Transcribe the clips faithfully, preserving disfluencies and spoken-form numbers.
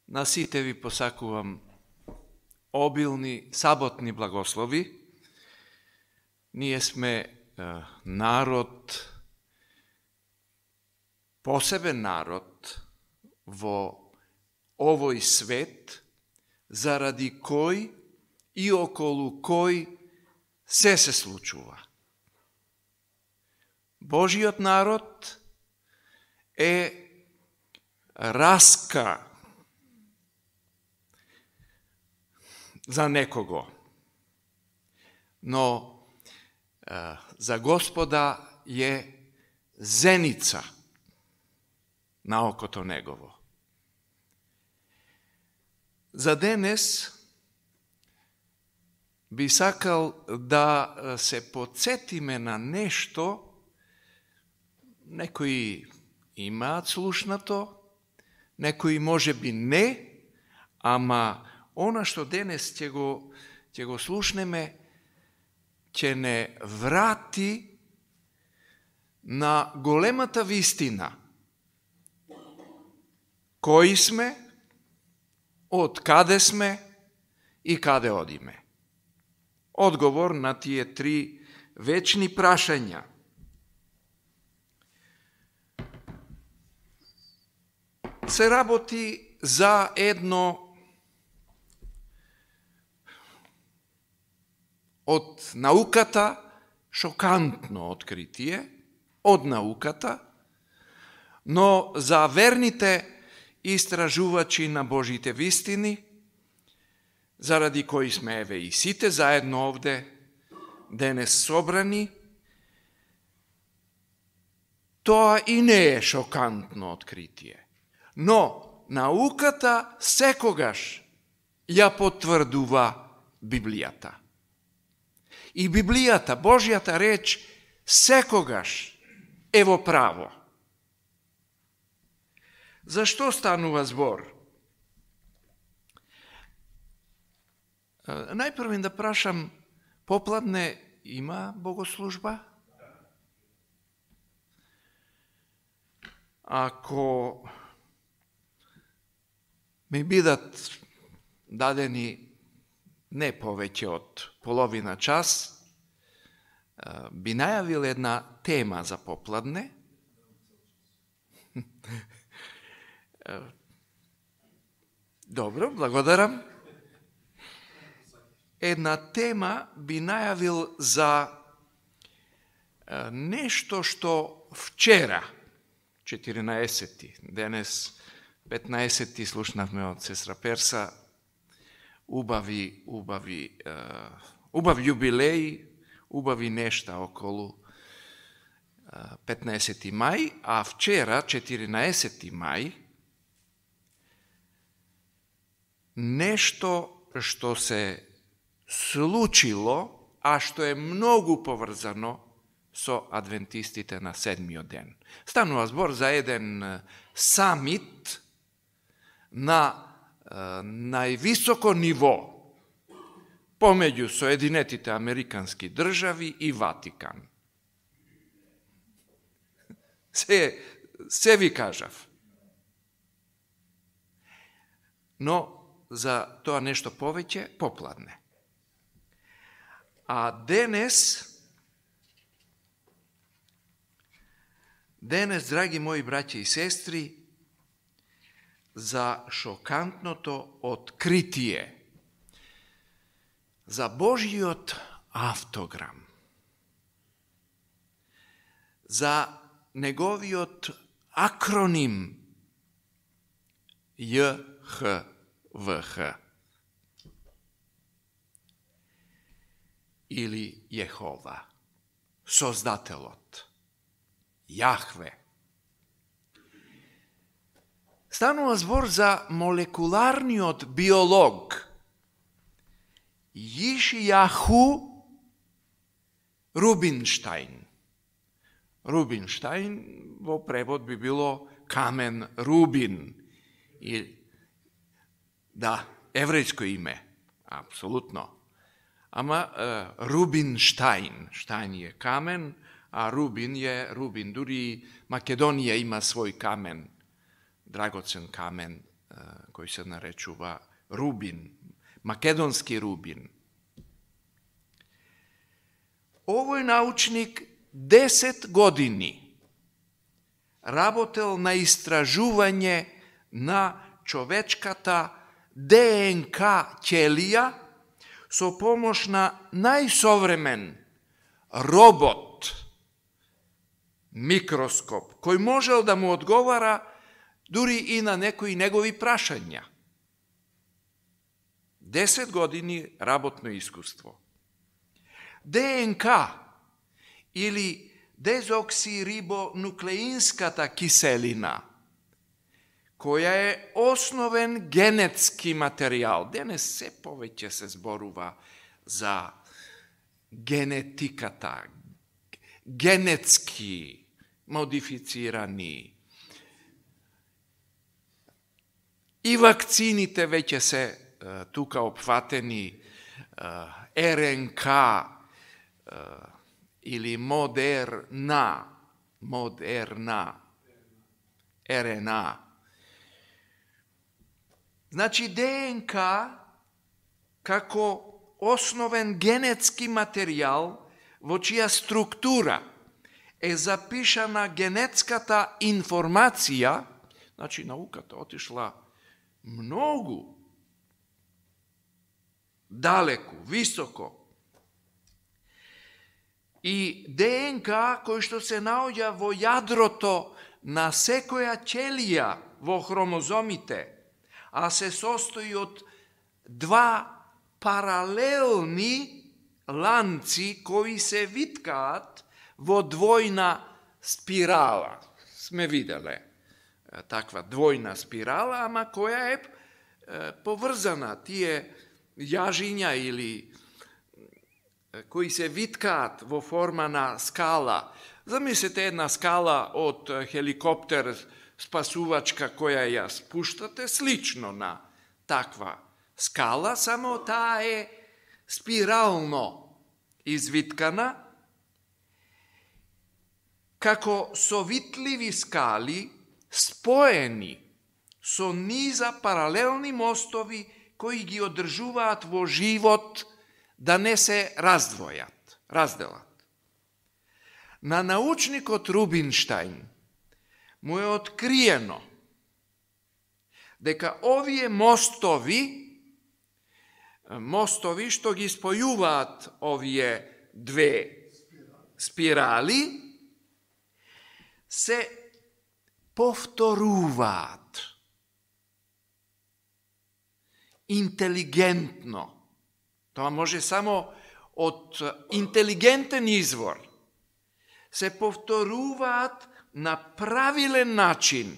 На сите ви посакувам обилни саботни благослови. Ние сме е, народ, посебен народ во овој свет, заради кој и околу кој се се случува. Божиот народ е раска за некого, но е, за Господа е зеница на окото негово. За денес би сакал да се подсетиме на нешто, некои имаат слушнато, некои може би не, ама она што денес ќе го, ќе го слушнеме, ќе не врати на големата вистина. Кои сме, од каде сме и каде одиме. Одговор на тие три вечни прашања. Се работи за едно од науката шокантно откритие, од науката, но за верните истражувачи на Божите вистини, заради кои сме еве и сите заедно овде денес собрани, тоа и не е шокантно откритие. Но науката секогаш ја потврдува Библијата. И Библијата, Божјата реч, секогаш е во право. Зашто станува збор? Најпрво да прашам, попладне има богослужба? Ако ми бидат дадени не повеќе од половина час, би најавил една тема за попладне. Добро, благодарам. Една тема би најавил за нешто што вчера, четиринаесети, денес петнаесети, слушнавме од сестра Перса, убави, убави, убав јубилеј, убави нешта околу петнаесети мај, а вчера, четиринаесети мај, нешто што се случило, а што е многу поврзано со адвентистите на седмиот ден. Станува збор за еден самит на највисоко ниво помеѓу Соединетите Американски држави и Ватикан. Се, се ви кажав. Но за тоа нешто повеќе попладне. А денес, денес, драги мои браќи и сестри, за шокантното откритие, за Божиот автограм, за неговиот акроним Ј Х В Х или Јехова, Создателот, Јахве. Станува збор за молекуларниот биолог Јишјаху Рубинштајн. Рубинштајн во превод би било камен Рубин. И, да, еврејско име, апсолутно. Ама е, Рубинштајн, Штајн е камен, а Рубин е Рубин. Дури Македонија има свој камен, драгоцен камен кој се наречува рубин, македонски рубин. Овој научник десет години работел на истражување на човечката ДНК ќелија со помош на најсовремен робот, микроскоп, кој можел да му одговара дури и на некои негови прашања. десет години работно искуство. ДНК или дезоксирибонуклеинската киселина, која е основен генетски материјал. Денес се повеќе се зборува за генетиката, генетски модифицирани. И вакцините веќе се тука опфатени, РНК или модерна, модерна, РНА. Значи ДНК како основен генетски материјал во чија структура е запишана генетската информација, значи науката отишла многу далеку, високо. И ДНК кој што се наоѓа во јадрото на секоја ќелија во хромозомите, а се состои од два паралелни ланци кои се виткаат во двојна спирала. Сме виделе таква двојна спирала, ама која е поврзана. Тие јажиња или кои се виткаат во форма на скала. Замислете една скала од хеликоптер спасувачка која ја спуштате, слично на таква скала, само таа е спирално извиткана, како совитливи скали споени со низа паралелни мостови кои ги одржуваат во живот да не се раздвојат, разделат. На научникот Рубинштајн му е откриено дека овие мостови, мостови што ги спојуваат овие две спирали, се повторуваат интелигентно. Тоа може само од интелигентен извор. Се повторуваат на правилен начин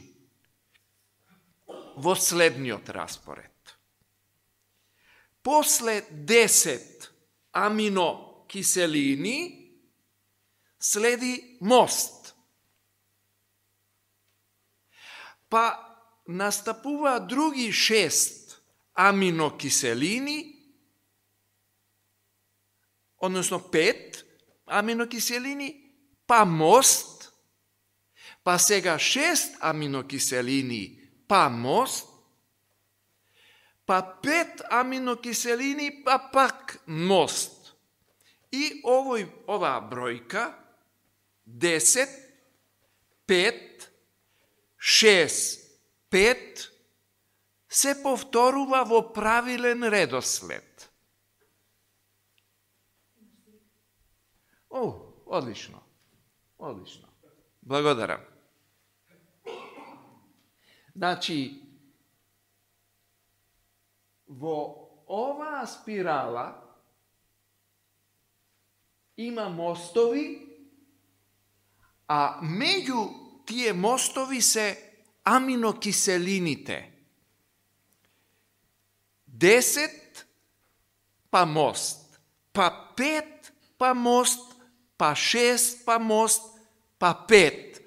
во следниот распоред. После десет аминокиселини следи мост. Па настапуваат други шест аминокиселини, односно пет аминокиселини, па мост, па сега шест аминокиселини, па мост, па пет аминокиселини, па пак мост. И овој, оваа бројка, десет, пет, шест, пет, се повторува во правилен редослед. О, одлично. Одлично. Благодарам. Значи, во оваа спирала има мостови, а меѓу тие мостови се аминокиселините. Десет па мост, па пет па мост, па шест па мост, па пет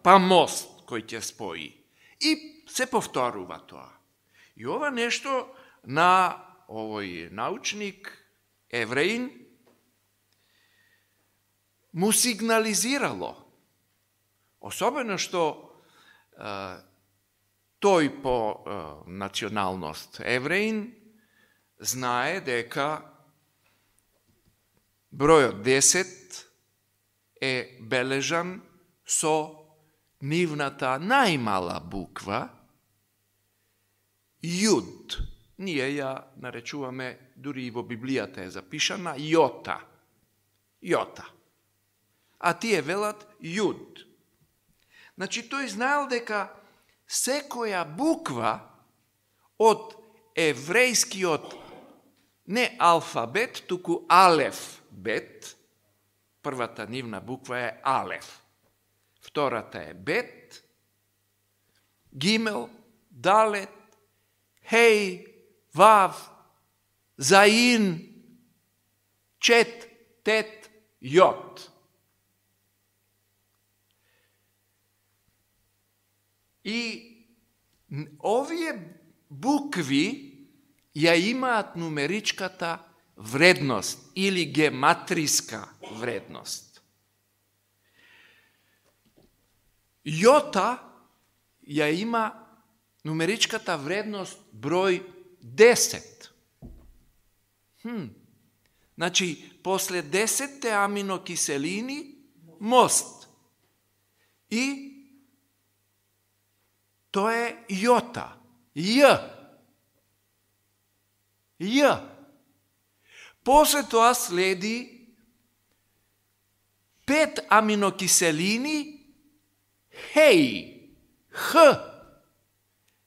па мост кој ќе спои. И се повторува тоа. И ова нешто на овој научник, евреин, му сигнализирало. Особено што е, тој по е, националност евреин знае дека бројот десет е бележан со нивната најмала буква јуд. Ние ја наречуваме, дури и во Библијата е запишана, јота. Јота. А тие велат јуд. Значи, тој знаел дека секоја буква од еврејскиот не алфабет, туку алеф бет, првата нивна буква е алеф, втората е бет, гимел, далет, хеј, вав, заин, чет, тет, јот. И овие букви ја имаат нумеричката вредност или гематриска вредност. Јота ја има нумеричката вредност број десет. Хм. Значи, после десетте аминокиселини, мост. И тоа е јота. Ј. Ј. После тоа следи пет аминокиселини, хеј, х,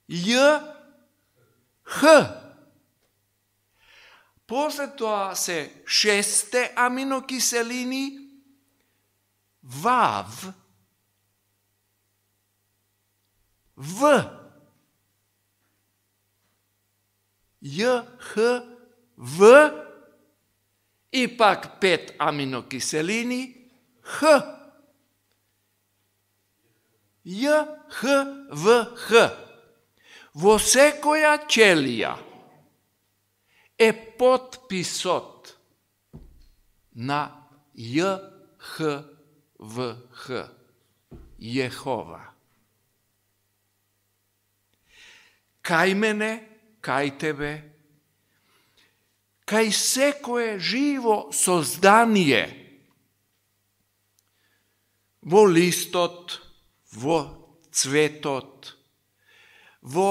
Ј, х. После тоа се шесте аминокиселини, вав, в, Ј, х, в, и пак пет аминокиселини, х. Ј, х, в, х. Во секоја ќелија е потписот на Ј, х, в, х. Јехова. Кај мене, кај тебе, кај секое живо создание, во листот, во цветот, во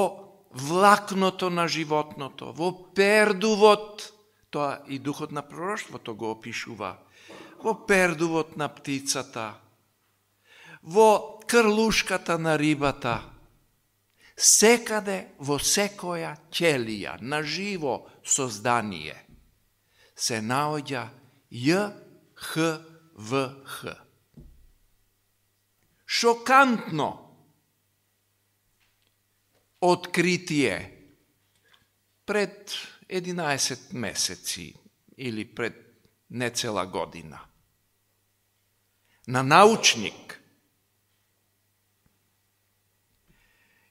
влакното на животното, во пердувот, тоа и духот на пророштвото го опишува, во пердувот на птицата, во крлушката на рибата, секаде во секоја ќелија на живо создание се наоѓа Ј, Х, В, Х. Шокантно откритие пред единаесет месеци или пред нецела година. На научник.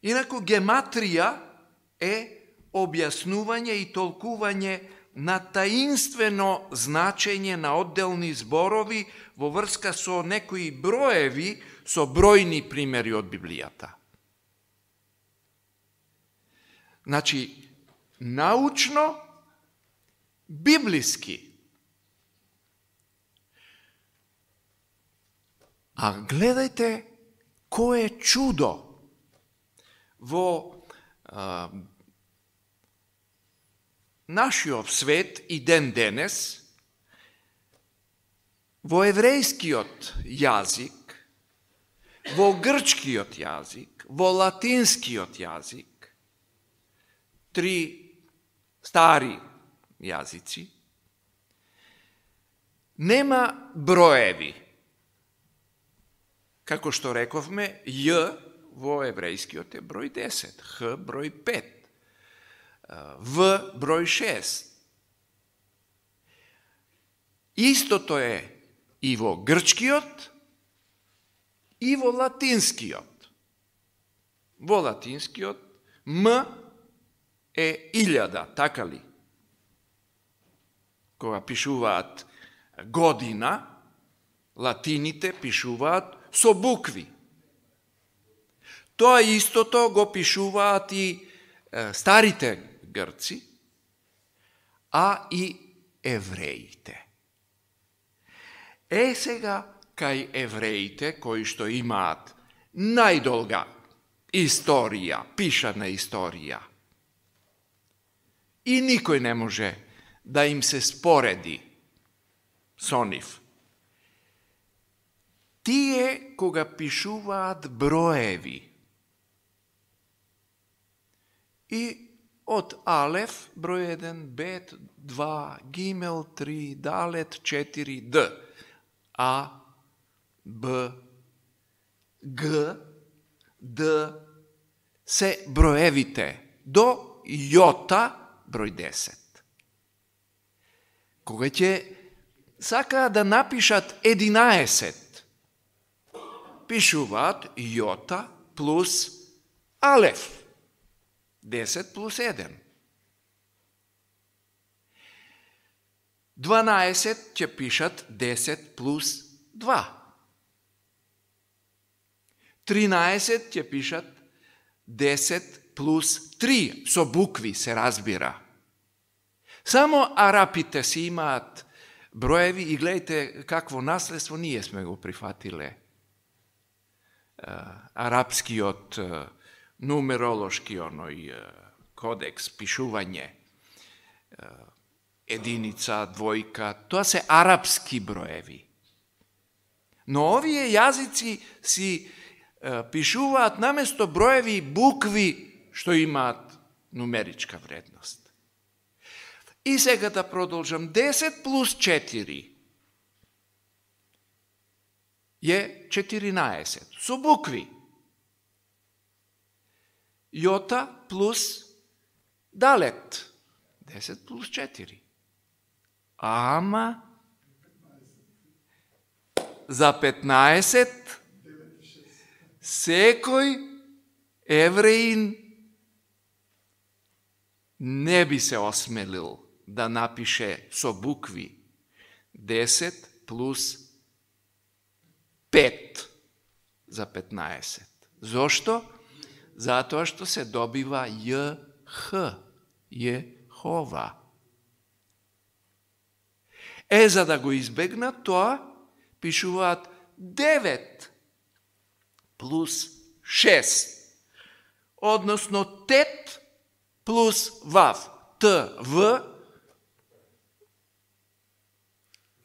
Инаку гематрија е објаснување и толкување на таинствено значење на одделни зборови во врска со некои броеви, со бројни примери од Библијата. Значи, научно, библиски. А гледајте кое чудо во а, нашиот свет и ден денес, во еврејскиот јазик, во грчкиот јазик, во латинскиот јазик, три стари јазици, нема броеви. Како што рековме, Ј во еврејскиот е број десет, Х број пет, В број шест. Истото е и во грчкиот, и во латинскиот. Во латинскиот М е илјада, така ли? Кога пишуваат година, латините пишуваат со букви. Тоа истото го пишуваат и старите грци, а и евреите. Е сега, кај евреите, кои што имаат најдолга историја, пишана историја, и никој не може да им се спореди со нив. Тие кога пишуваат броеви и од Алеф, број еден, Бет, два, Гимел, три, Далет, четири, Д, А, Б, Г, Д, се броевите до Јота, број десет. Кога ќе сакаа да напишат единаесет, пишуваат Јота плюс Алеф, десет плюс еден. дванаесет ќе пишат десет плюс два. тринаесет ќе пишат десет плюс три, со букви се разбира. Само арапите си имаат броеви и гледайте какво наследство ние сме го прифатиле. Арапскиот нумеролошки оној кодекс, пишување, единица, двојка, тоа се арапски броеви. Но овие јазици си пишуваат наместо броеви букви што имаат нумеричка вредност. И сега да продолжам. десет плюс четири е четиринаесет. Со букви. Јота плюс Далет. десет плюс четири. Ама за петнаесет секој евреин не би се осмелил да напише со букви десет плюс пет за петнаесет. Зошто? Затоа што се добива Ј Х, Јехова. Е, за да го избегнат тоа, пишуваат девет плюс шест, односно тет плюс вав, т, в,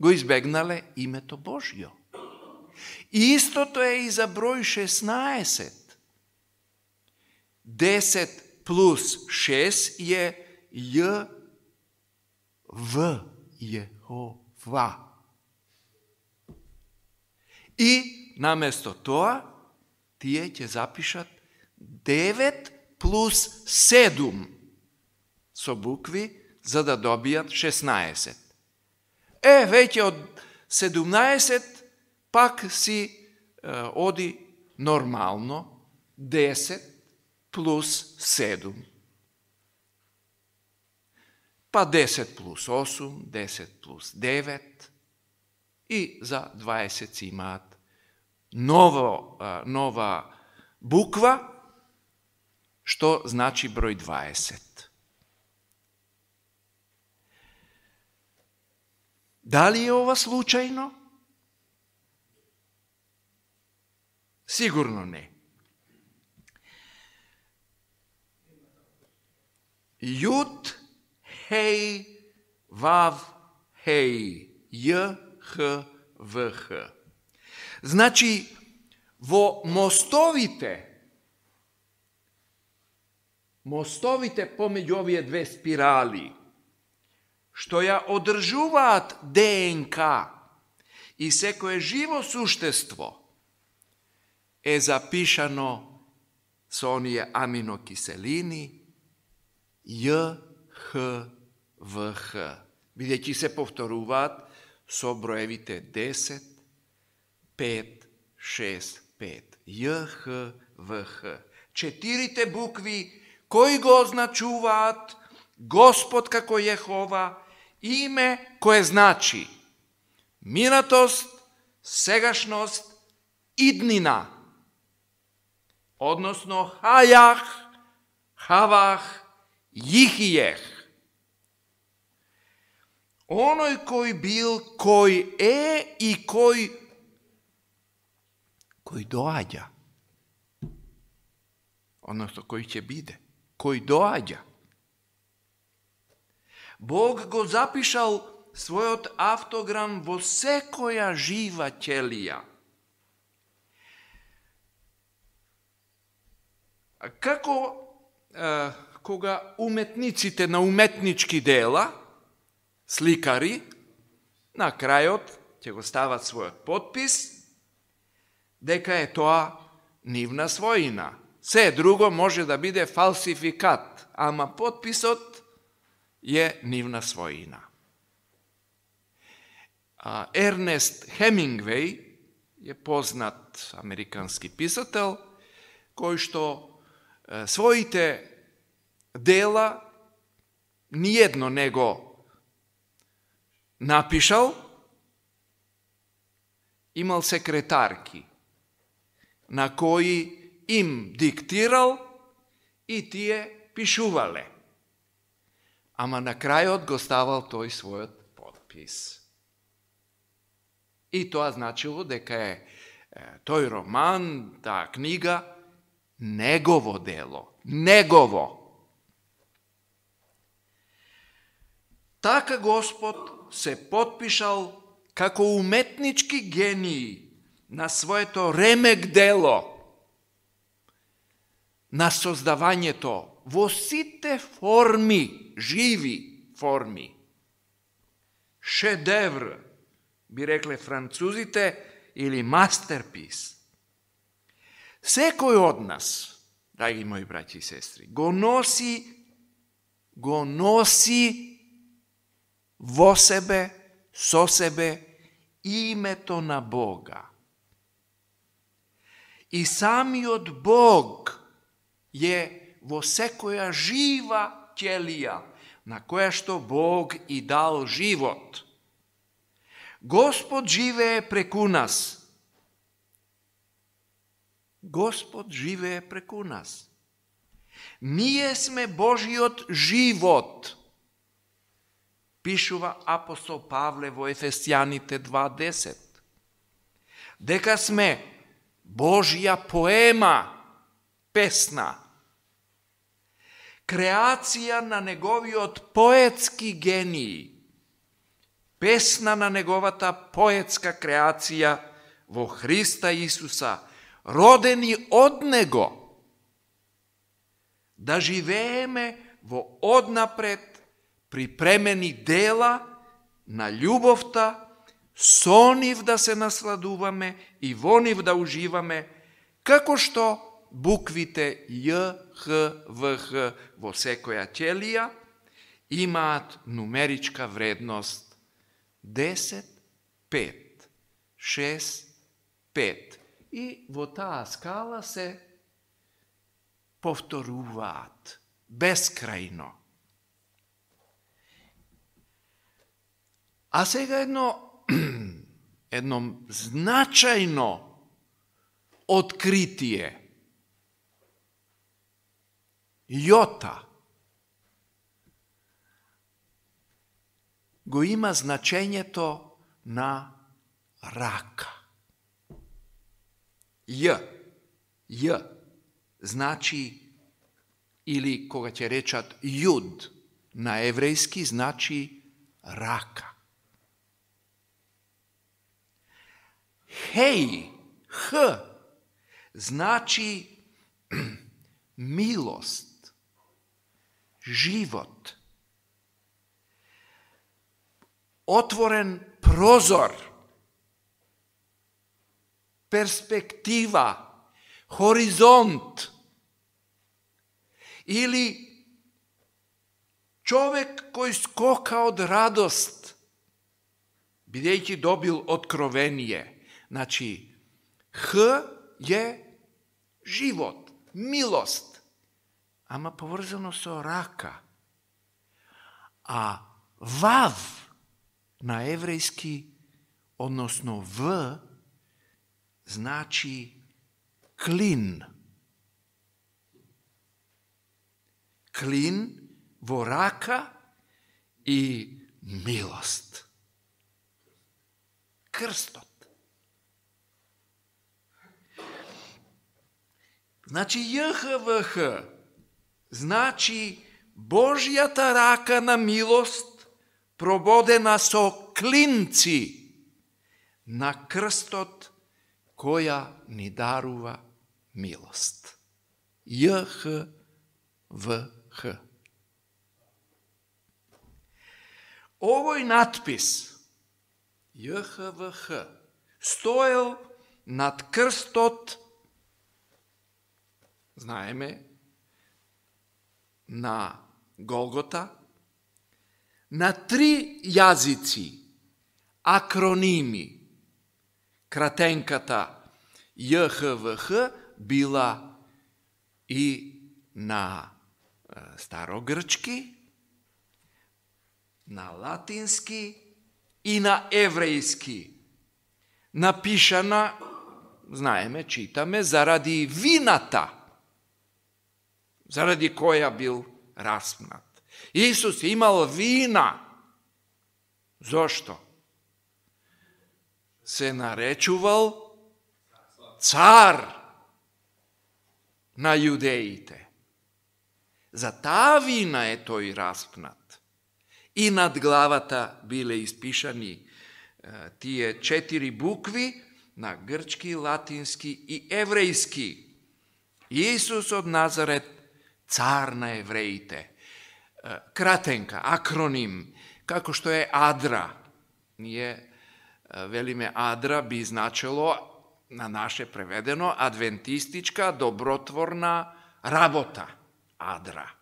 го избегнале името Божјо. И истото е и за број шеснаесет. десет плюс шест е Ј, В, Јехова. И наместо тоа, тие ќе запишат девет плюс седум со букви, за да добијат шеснаесет. Е, веќе од седумнаесет пак си е, оди нормално десет плюс седум. Па десет плюс осум, десет плюс девет и за дваесет си имаат ново, нова буква, што значи број дваесет. Дали е ова случајно? Сигурно не. Јуд, хеј, вав, хеј, Ј, Х, В, Х. Значи, во мостовите, мостовите помеѓу овие две спирали, што ја одржуваат ДНК и секое живо суштество, е запишано со оние аминокиселини Ј, Х, В, Х, бидејќи се повторуваат со броевите десет, пет, шест, пет. Ј, Х, В, Х. Четирите букви кои го означуваат Господ како Јехова, име кое значи минатост, сегашност, иднина. odnosno hajah, havah, jihijeh. Onoj koji bil, koji e i koji, koji doađa. Odnosno koji će bide, koji doađa. Bog go zapišal svojot автограм во секоја жива ќелија. Како е, кога уметниците на уметнички дела, сликари, на крајот ќе го стават својот подпис, дека е тоа нивна својина. Се друго може да биде фалсификат, ама подписот е нивна својина. Ернест Хемингвеј е познат американски писател, кој што е, своите дела ниедно не го напишал, имал секретарки, на кои им диктирал и тие пишувале. Ама на крајот го ставал тој својот подпис. И тоа значило дека е, е тој роман, таа книга, негово дело. Негово. Така Господ се подпишал како уметнички гении на своето ремек дело, на создавањето во сите форми, живи форми. Шедевр, би рекле французите, или мастерпис. Секој од нас, драги мои браќи и сестри, го носи, го носи во себе, со себе, името на Бога. И самиот Бог е во секоја жива ќелија, на која што Бог и дал живот. Господ живее преку нас. Господ живее преку нас. Ние сме Божиот живот. Пишува апостол Павле во Ефесјаните два десет. Дека сме Божја поема, песна, креација на неговиот поетски гении, песна на неговата поетска креација во Христа Исуса, родени од Него, да живееме во однапред припремени дела на љубовта, со нив да се насладуваме и во нив да уживаме, како што буквите Ј, Х, В, Х во секоја ќелија имаат нумеричка вредност десет, пет, шест, пет. И во таа скала се повторуваат бескрајно. А сега едно, едно значајно откритие. Јота го има значењето на рака. Ј, Ј, значи, или кога ќе речат јуд, на еврејски значи рака. Хеј, Х, значи милост, живот, отворен прозор, перспектива, хоризонт, или човек кој скока од радост, бидејќи добил откровение. Значи, Х е живот, милост, ама поврзано со рака. А Вав на еврејски, односно В, значи клин, клин во рака и милост. Крстот. Значи J H V H значи Божјата рака на милост прободена со клинци на крстот која ни дарува милост. J H V H. Овој надпис J H V H стоел над крстот, знаеме, на Голгота, на три јазици, акроними. Кратенката J H V H била и на старогрчки, на латински и на еврејски. Напишана, знаеме, читаме, заради вината, заради која бил распнат. Исус имал вина. Зошто? Се наречувал цар на јудеите. За таа вина е тој распнат. И над главата биле испишани е, тие четири букви на грчки, латински и еврејски. Исус од Назарет, цар на евреите. Е, кратенка, акроним, како што е АДРА. Ние е, велиме АДРА би значело на наше преведено адвентистичка добротворна работа. АДРА.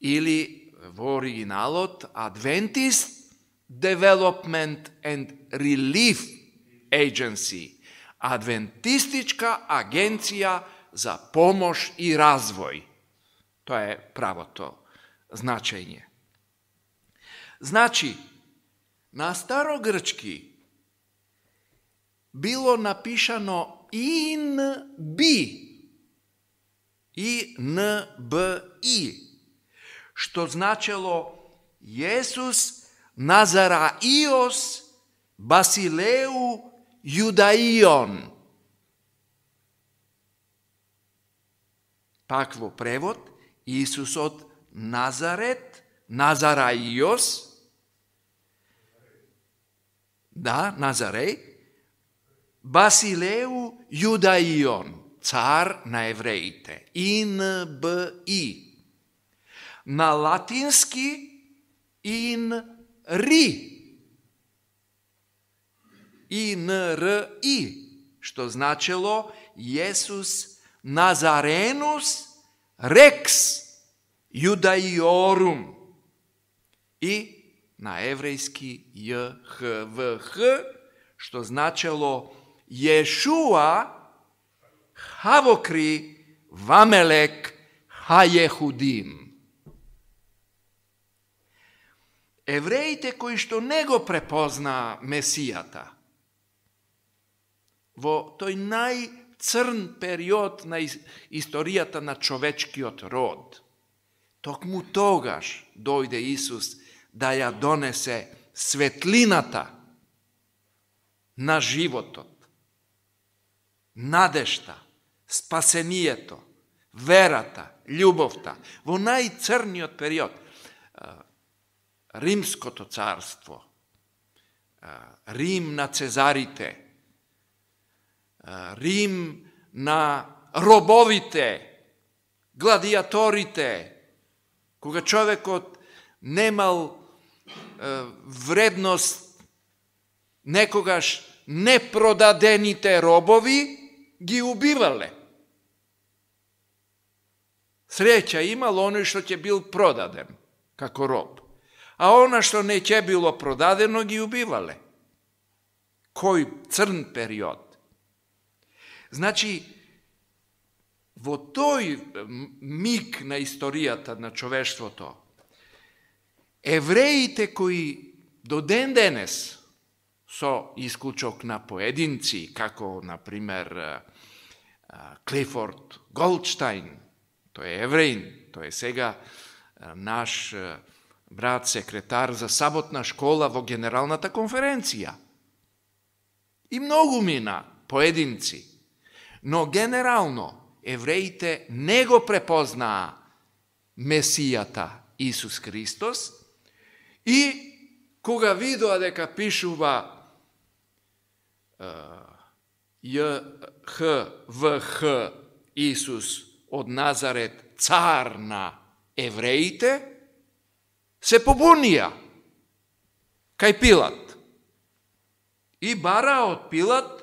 Или во оригиналот Adventist Development and Relief Agency. Адвентистичка агенција за помош и развој. Тоа е правото значење. Значи, на старогрчки било напишано И Н Б, И Н Б И, што значело Јесус Назараиос Басилеу Јудаион. Пак во превод, Исусот Назарет, Назараиос, да, Назареј, Басилеу Јудаион, цар на евреите. И Н Б И. На латински Ин Ри. И Н Р И, што значело Јесус Назаренус Рекс Јудаиорум. И на еврејски J H V H, што значело Јешуа Хавокри Вамелек Хајехудим. Евреите кои што не го препознаа Месијата, во тој најцрн период на историјата на човечкиот род, токму тогаш дојде Исус да ја донесе светлината на животот, надежта, спасението, верата, љубовта, во најцрниот период. Римското царство, Рим на цезарите, Рим на робовите, гладиаторите, кога човекот немал вредност, некогаш непродадените робови ги убивале. Среќа имал оној што ќе бил продаден како роб, а она што не ќе било продадено ги убивале. Кој црн период. Значи, во тој миг на историјата на човештвото, евреите кои до ден денес, со исклучок на поединци, како, например, Клифорд Голдштайн, тој е евреин, тој е сега наш брат секретар за саботна школа во Генералната конференција. И многу мина, поединци. Но генерално, евреите не го препознаа Месијата Исус Христос и кога видоа дека пишува Ј Х В Х Исус од Назарет, цар на евреите, се побунија кај Пилат. И бара од Пилат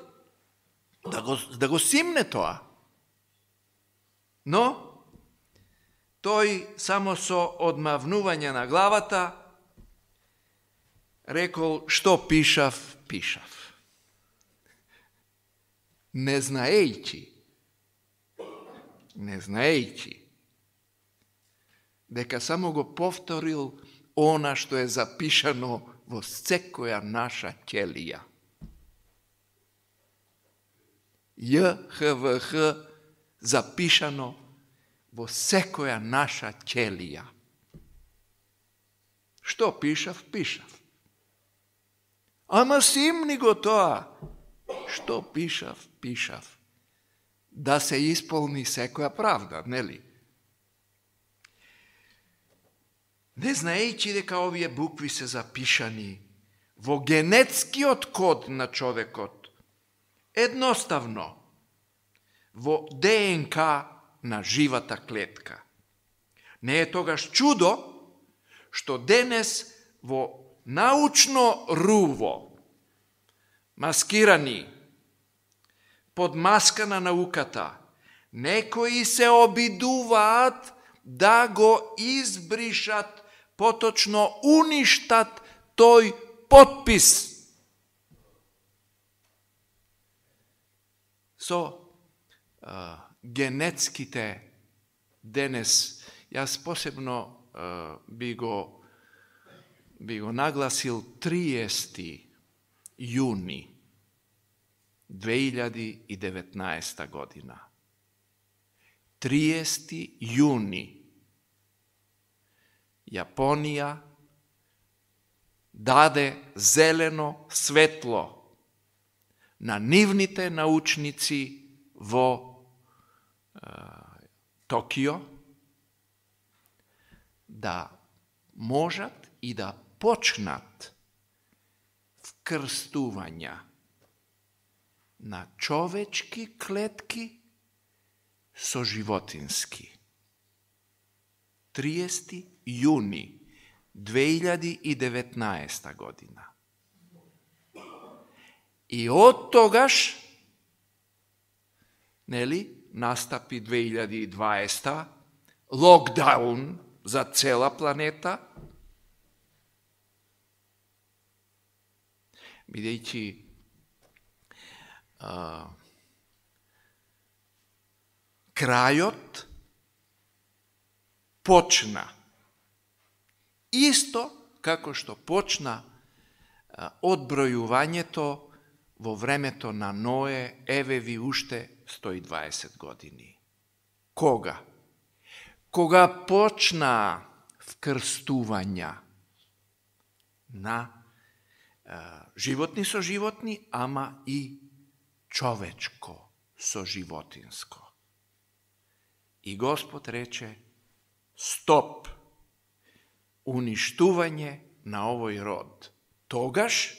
да го, да го симне тоа. Но тој само со одмавнување на главата рекол, што пишав, пишав. Не знаејќи, не знаејќи, дека само го повторил она што е запишано во секоја наша ќелија. Ј Х В Х запишано во секоја наша ќелија. Што пишав, пишав. Ама симни го тоа. Што пишав, пишав. Да се исполни секоја правда, нели? Не знаејќи дека овие букви се запишани во генетскиот код на човекот, едноставно, во ДНК на живата клетка. Не е тогаш чудо што денес во научно руво, маскирани под маска на науката, некои се обидуваат да го избришат, поточно уништат тој потпис. Со а, генетските денес, јас посебно а, би го би го нагласил триесети јуни две илјади и деветнаесета година. триесети јуни Јапонија даде зелено светло на нивните научници во е, Токио да можат и да почнат вкрстувања на човечки клетки со животински. триесети јуни две илјади и деветнаесета година. И од тогаш, нели, настапи две илјади и дваесета локдаун за цела планета, бидејќи а, крајот почна исто како што почна а, одбројувањето во времето на Ное, еве ви уште сто и дваесет години. Кога? Кога почна вкрстувања на а, животни со животни, ама и човечко со животинско. И Господ рече, стоп, уништување на овој род. Тогаш,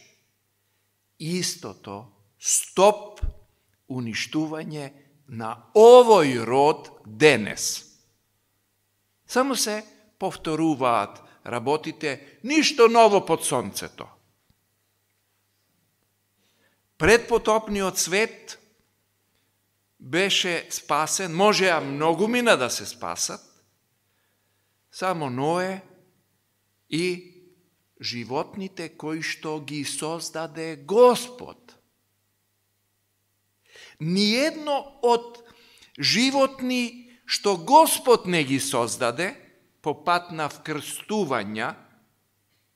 истото, стоп, уништување на овој род денес. Само се повторуваат работите, ништо ново под сонцето. Предпотопниот свет беше спасен, можеа многу мина да се спасат, само Ное и животните кои што ги создаде Господ. Ниедно од животни што Господ не ги создаде по пат на вкрстувања,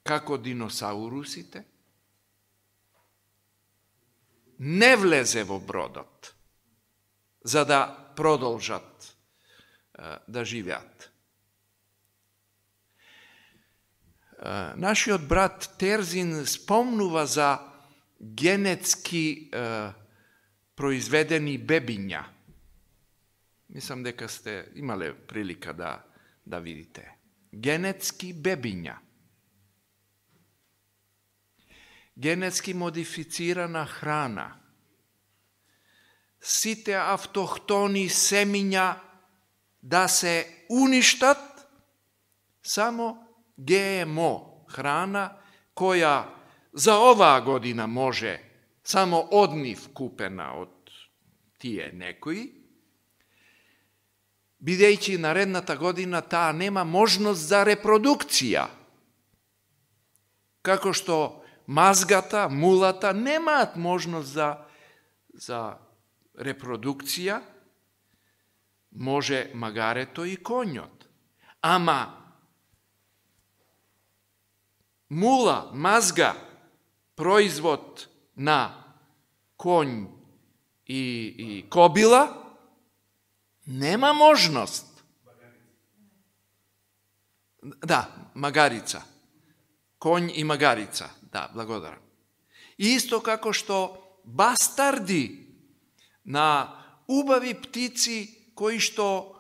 како диносаурусите, не влезе во бродот, за да продолжат да живеат. нашиот брат Терзин спомнува за генетски произведени бебиња. Мислам дека сте имале прилика да, да видите. Генетски бебиња. Генетски модифицирана храна. Сите автохтони семиња да се уништат, само Ге Ем О храна, која за оваа година може само од нив купена од тие некои, бидејќи наредната година таа нема можност за репродукција. Како што мазгата, мулата немаат можност за, за репродукција, може магарето и конјот. Ама мула, мазга, производ на конј и, и кобила, нема можност. Да, магарица. Конј и магарица. Да, благодарам. Исто како што бастарди на убави птици кои што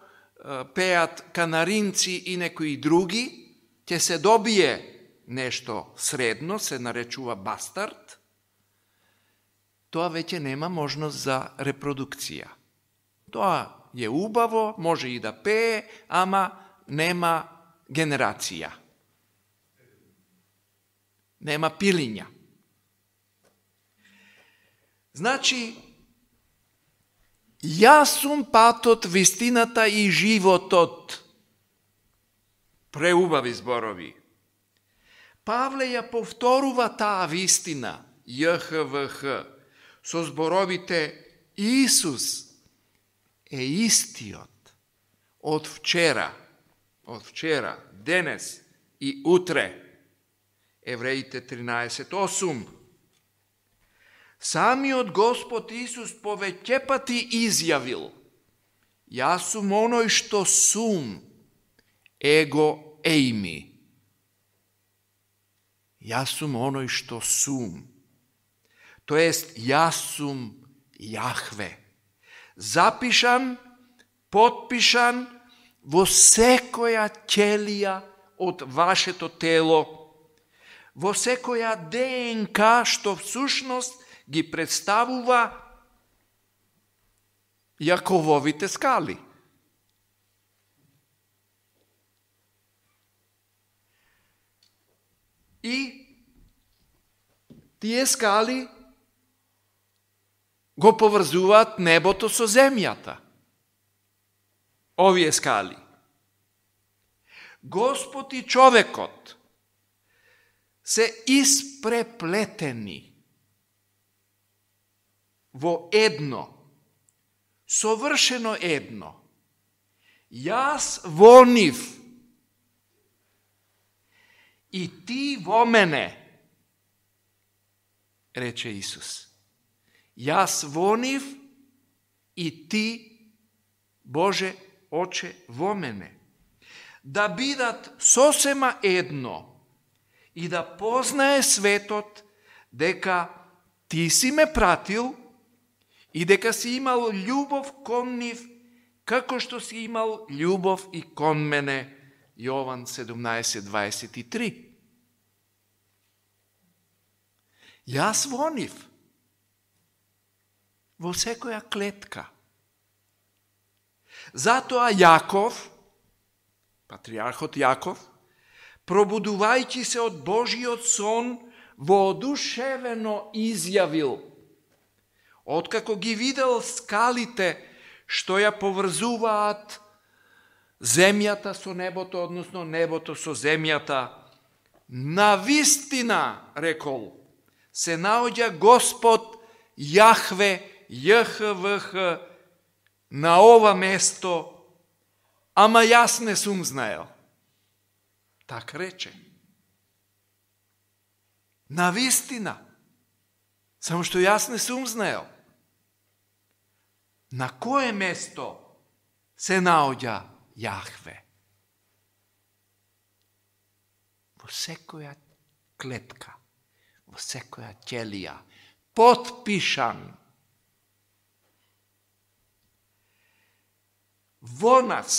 пеат канаринци и некои други, ќе се добие нешто средно, се наречува бастард, тоа веќе нема можност за репродукција. Тоа е убаво, може и да пее, ама нема генерација. Нема пилиња. Значи, јас сум патот, вистината и животот. Преубави зборови. Павле ја повторува таа вистина, Је Х В Х, со зборовите Исус е истиот од вчера, од вчера, денес и утре. Евреите тринаесет осум. Самиот Господ Исус повеќе пати изјавил: јас сум оној што сум, его ејми. Јас сум оној што сум. Тоест, јас сум Јахве. Запишан, потпишан во секоја ќелија од вашето тело, во секоја Де Ен Ка што всушност ги представува Јакововите скали. И тие скали го поврзуваат небото со земјата. Овие скали. Господ и човекот се испреплетени во едно, совршено едно. Јас во нив и ти во мене, рече Исус. Јас во нив и ти, Боже, Оче, во мене. Да бидат сосема едно и да познае светот дека ти си ме пратил и дека си имал љубов кон нив, како што си имал љубов и кон мене. Јован седумнаесет дваесет и три. Јас во нив, во секоја клетка. Затоа Јаков, патриархот Јаков, пробудувајќи се од Божиот сон, воодушевено изјавил: откако ги видел скалите што ја поврзуваат земјата со небото, односно небото со земјата, навистина, рекол, се наоѓа Господ Јахве, Је Х В Х, на ова место, ама јас не сум знаел. Так рече. Навистина. Само што јас не сум знаел. На кое место се наоѓа Јахве? во секоја клетка, во секоја ќелија, потпишан. Во нас,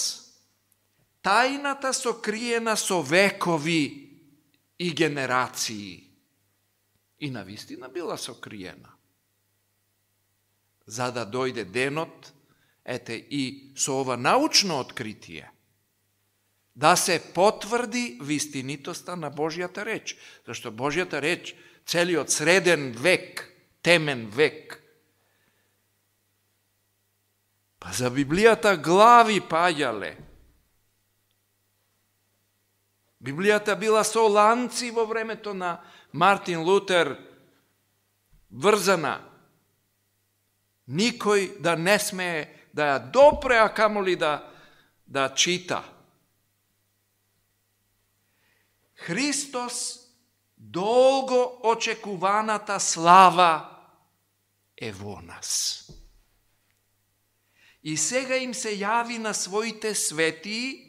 тајната сокриена со векови и генерации. И навистина била сокриена. За да дојде денот, ете и со ова научно откритие, да се потврди вистинитоста на Божјата реч. Зашто Божјата реч, целиот среден век, темен век, па за Библијата глави паѓале. Библијата била со ланци во времето на Мартин Лутер, врзана. Никој да не смее да ја допре, а камоли да, да чита. Христос, долго очекуваната слава е во нас. И сега им се јави на своите светии,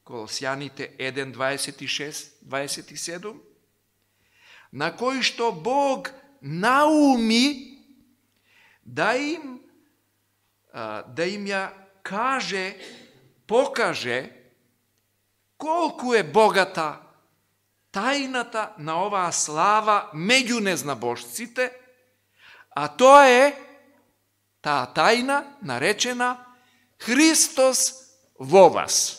Колосјаните еден, дваесет и шест, дваесет и седум, на кои што Бог науми да им, да им ја каже, покаже колку е богата тајната на оваа слава меѓу незнабожците, а тоа е таа тајна наречена Христос во вас.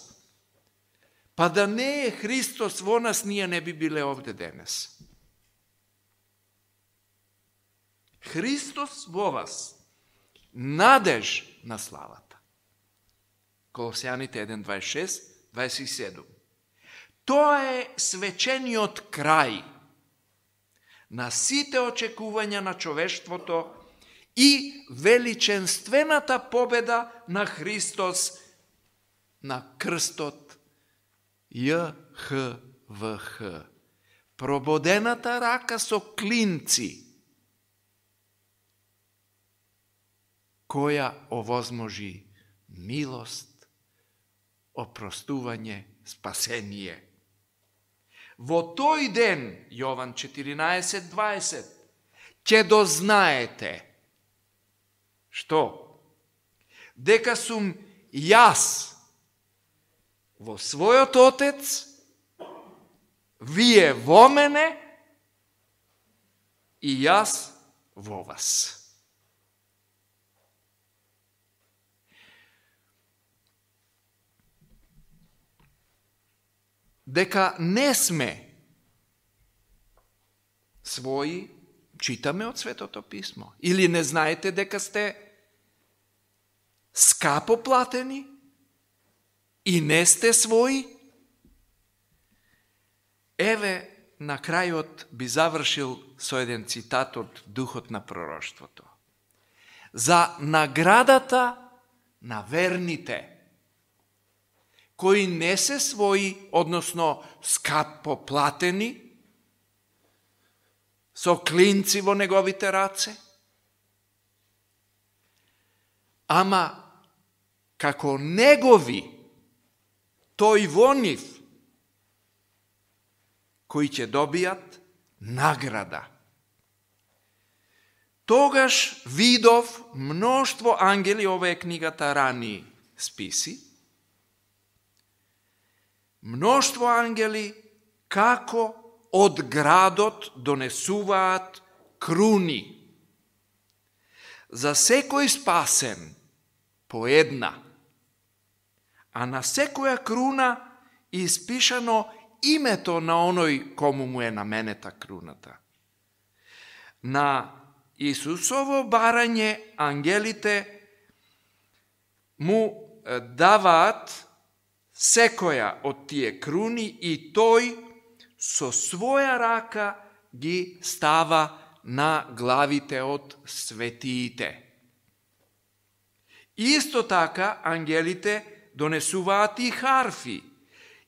Па да не е Христос во нас, ние не би биле овде денес. Христос во вас, надеж на славата. Колосјаните еден, дваесет и шест, дваесет и седум. Тоа е свечениот крај на сите очекувања на човештвото и величенствената победа на Христос на крстот Ј Х В Х. Прободената рака со клинци, која овозможи милост, опростување, спасение. Во тој ден, Јован четиринаесет, дваесет, ќе дознаете, што? Дека сум јас во својот Отец, вие во мене и јас во вас. Дека не сме своји, читаме од Светото Писмо. Или не знаете дека сте скапо платени и не сте своји? Еве, на крајот би завршил со еден цитат од Духот на пророштвото. За наградата на верните, кои не се своји, односно скапо платени, со клинци во неговите раце, ама како негови, тој во нив, кои ќе добијат награда. Тогаш видов мноштво ангели, ова е книгата Рани списи, мноштво ангели како од градот донесуваат круни. За секој спасен по една, а на секоја круна испишано името на оној кому му е наменета круната. На Исусово барање ангелите му даваат секоја од тие круни и тој со своја рака ги става на главите од светиите. Исто така ангелите донесуваат и харфи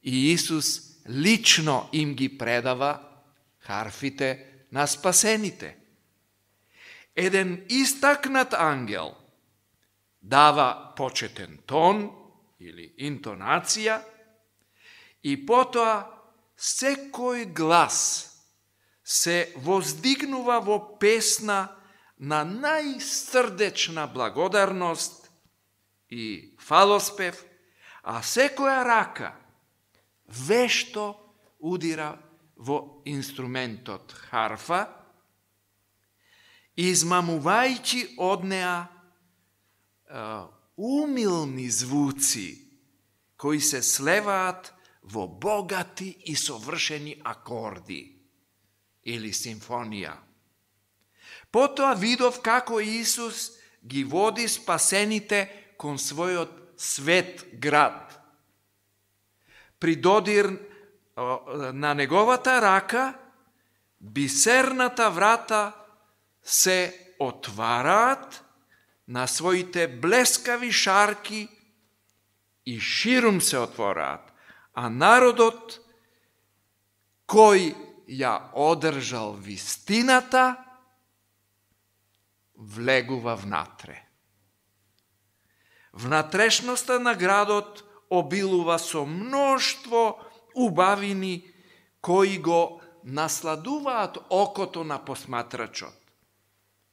и Исус лично им ги предава харфите на спасените. Еден истакнат ангел дава почетен тон или интонација и потоа секој глас се воздигнува во песна на најсрдечна благодарност и фалоспев, а секоја рака вешто удира во инструментот харфа, измамувајќи од неа uh, умилни звуци кои се слеваат во богати и совршени акорди или симфонија. Потоа видов како Исус ги води спасените кон својот свет град. При додир на неговата рака, бисерната врата се отвараат на своите блескави шарки и ширум се отвораат, а народот кој ја одржал вистината влегува внатре. Внатрешноста на градот обилува со мноштво убавини кои го насладуваат окото на посматрачот.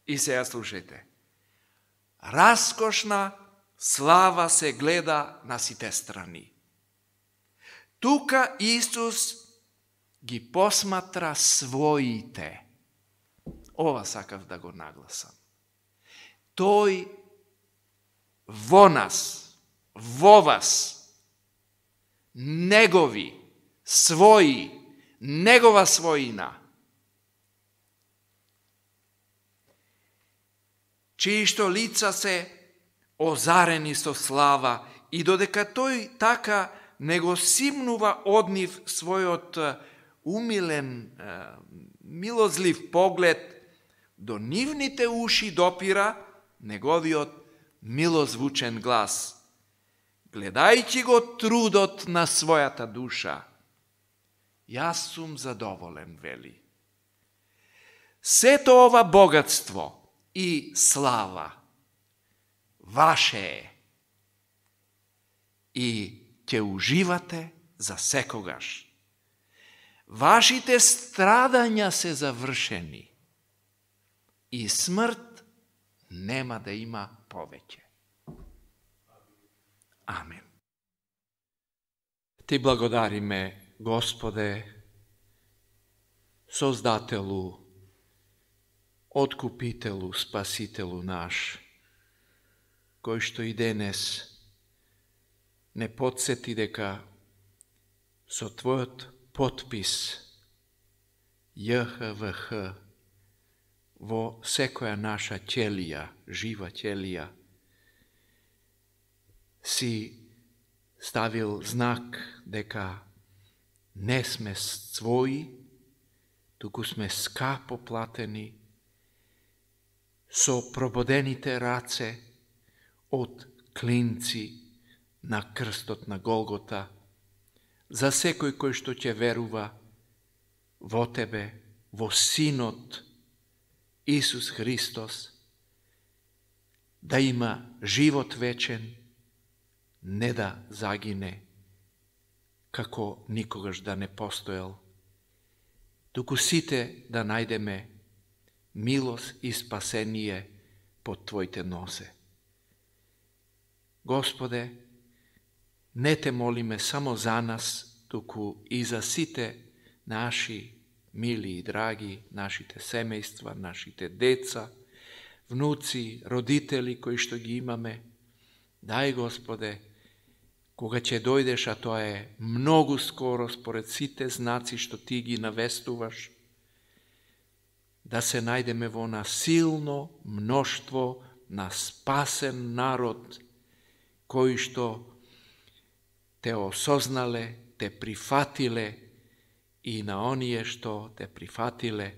И сега слушајте. Раскошна слава се гледа на сите страни. Тука Исус ги посматра своите. Ова сакав да го нагласам. Тој во нас, во вас, негови, своји, негова својина, чии што лица се озарени со слава и додека тој така не го симнува од нив својот умилен, милозлив поглед, до нивните уши допира неговиот милозвучен глас, гледајќи го трудот на својата душа. Јас сум задоволен, вели. Сето ова богатство и слава ваше е и ќе уживате за секогаш. Вашите страдања се завршени и смрт нема да има повеќе. Амен. Ти благодариме, Господе, Создателу, Откупителу, Спасителу наш, кој што и денес не подсети дека со Твојот потпис J H V H во секоја наша ќелија, жива ќелија, си ставил знак дека не сме своји, туку сме скапо платени со прободените раце од клинци на крстот на Голгота, за секој кој што ќе верува во Тебе, во Синот Исус Христос, да има живот вечен, не да загине, како никогаш да не постоел, туку сите да најдеме милост и спасение под Твоите нозе. Господе, не Те молиме само за нас, туку и за сите наши мили и драги, нашите семејства, нашите деца, внуци, родители кои што ги имаме. Дај, Господе, кога ќе дојдеш, а тоа е многу скоро според сите знаци што Ти ги навестуваш, да се најдеме во насилно мноштво на спасен народ, кои што Те осознале, Те прифатиле и на оние што Те прифатиле,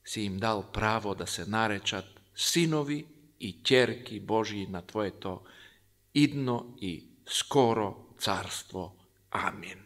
си им дал право да се наречат синови и ќерки Божии на Твоето идно и скоро царство. Амин.